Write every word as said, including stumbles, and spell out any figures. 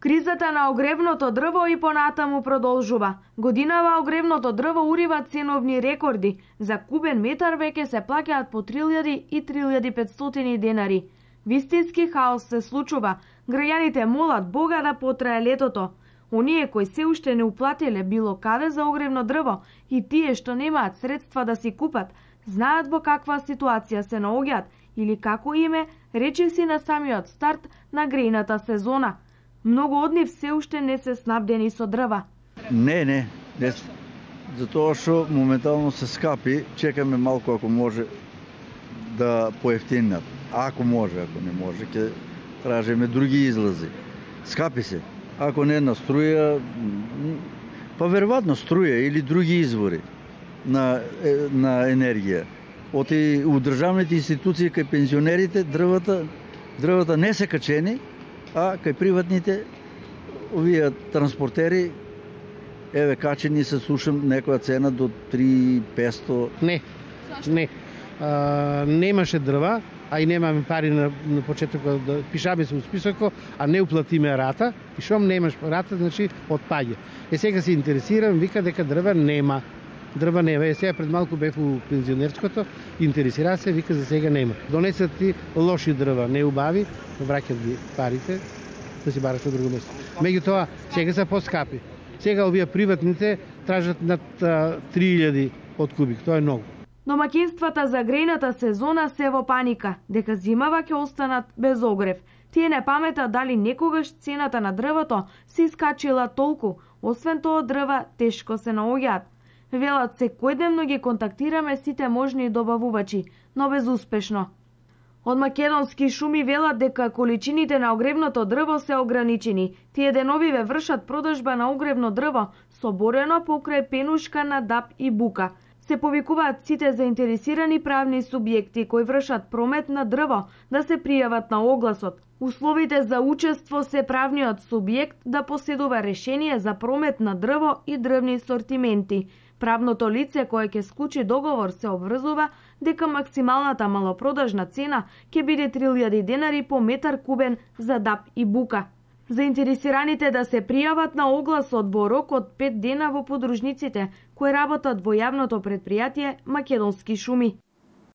Кризата на огревното дрво и понатаму продолжува. Годинава огревното дрво урива ценовни рекорди. За кубен метар веќе се плаќаат по три илјади и три илјади и петстотини денари. Вистински хаос се случува. Граѓаните молат Бога да потрае летото. Оние кои се уште не уплатиле било каде за огревно дрво и тие што немаат средства да си купат, знаат во каква ситуација се наоѓаат или како име речиси на самиот старт на грејната сезона. Многу од нив се уште не се снабдени со дрва. Не, не, не. Затоа што моментално се скапи, чекаме малку ако може да поевтинат. Ако може, ако не може, ќе тражиме други излази. Скапи се. Ако не на струја, па веројатно струја или други извори на, на енергија. Оти у државните институции кај пензионерите дрвата, дрвата не се качени, а кај приватните овие транспортери еве качени се слушам некоја цена до три песто. Не. Не. А, немаше дрва, а и немаме пари на, на почетокот да пишаме се у списокот, а не уплатиме рата. И шом немаш рата, значи отпаѓа. Е сега се интересирам, вика дека дрва нема. Дрва нема. Е сега пред малку бев у пензионерското, интересира се, вика за сега нема. Донесат ти лоши дрва, не убави, враќат ги парите, да си бараш на друго место. Меѓутоа, сега се поскапи. Сега овие приватните тражат над три илјади од кубик, тоа е многу. Домаќинствата за грејната сезона се во паника, дека зимава ќе останат без огрев. Тие не паметат дали некогаш цената на дрвото се искачила толку, освен тоа дрва тешко се наоѓаат. Велат секојдневно ги контактираме сите можни добавувачи, но безуспешно. Од македонски шуми велат дека количините на огревното дрво се ограничени. Тие деновиве вршат продажба на огревно дрво соборено покрај пенушка на дап и бука. Се повикуваат сите заинтересирани правни субјекти кои вршат промет на дрво да се пријават на огласот. Условите за учество се правниот субјект да поседува решение за промет на дрво и дрвни сортименти. Правното лице кое ќе склучи договор се обврзува дека максималната малопродажна цена ќе биде три илјади денари по метар кубен за дап и бука. Заинтересираните да се пријават на огласот во рок од пет дена во подружниците кои работат во јавното претпријатие Македонски шуми.